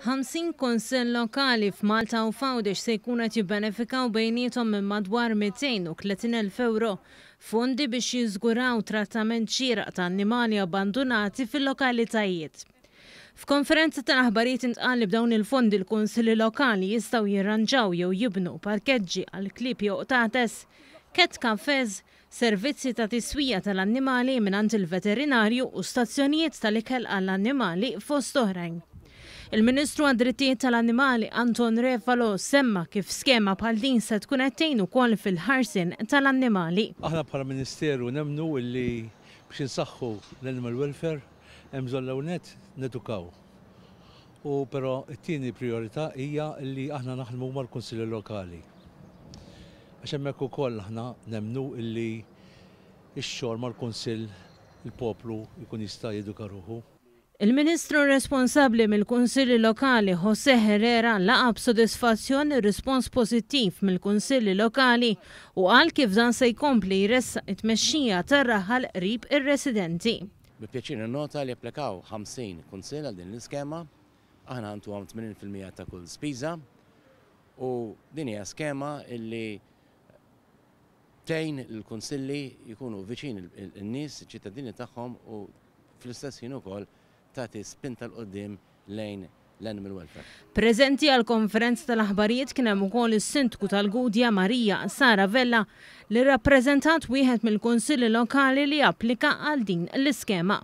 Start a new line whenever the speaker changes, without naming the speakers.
50 kunsill lokali f'Malta u f'Għawdex se jkunu qed jibbenefikaw bejniethom minn madwar 230,000 ewro fondi biex jiżguraw trattament xieraq ta' annimali abbandunati fil-lokalitajiet. F'konferenza tal-aħbarijiet intqal li b'dawn il-fondi l-kunsilli lokali jistgħu jirranġaw jew jibnu parkeġġi għal klieb jew qtates, cat cafes, servizzi ta' tiswija tal-annimali mingħand il-veterinarju u stazzjonijiet tal-ikel għall-annimali fost oħrajn. Il-Ministru għad-Drittijiet tal-Annimali Anton Refalo semma kif skema bħal din se tkun qed tgħin ukoll fil-ħarsien tal-annimali.
Aħna bħala Ministeru nemmnu illi biex insaħħu l-animal welfare hemm bżonn l-ewwel nett nedukaw. U però t-tieni prijorità hija li aħna naħdmu mal-Kunsilli Lokali. Għax hemmhekk ukoll aħna nemmnu li x-xogħol mal-Kunsill il-poplu jkun jista' jeduka ruħu.
Il-Ministru responsabbli mill-Kunsilli Lokali José Herrera laqa' b'sodisfazzjon ir-rispons pożittiv mill-Kunsilli Lokali u qal kif dan se jkompli jressaq it-tmexxija tar-raħal qrib ir-residenti.
Bi pjaċir ninnota li applikaw 50 kunsill għal din l-iskema. Aħna ntuhom 80% ta' kull spiża u din hija skema illi tgħin lill-kunsilli jkunu viċin in-nies, iċ-ċittadini tagħhom u fl-istess ħin ukoll tagħti spinta 'l quddiem lejn l-animal welfare.
Preżenti għall-konferenza tal-aħbarijiet kien hemm ukoll is-Sindku tal-Gudja Maria Sara Vella li rrappreżentat wieħed mill-kunsilli lokali li applika għal din l-iskema.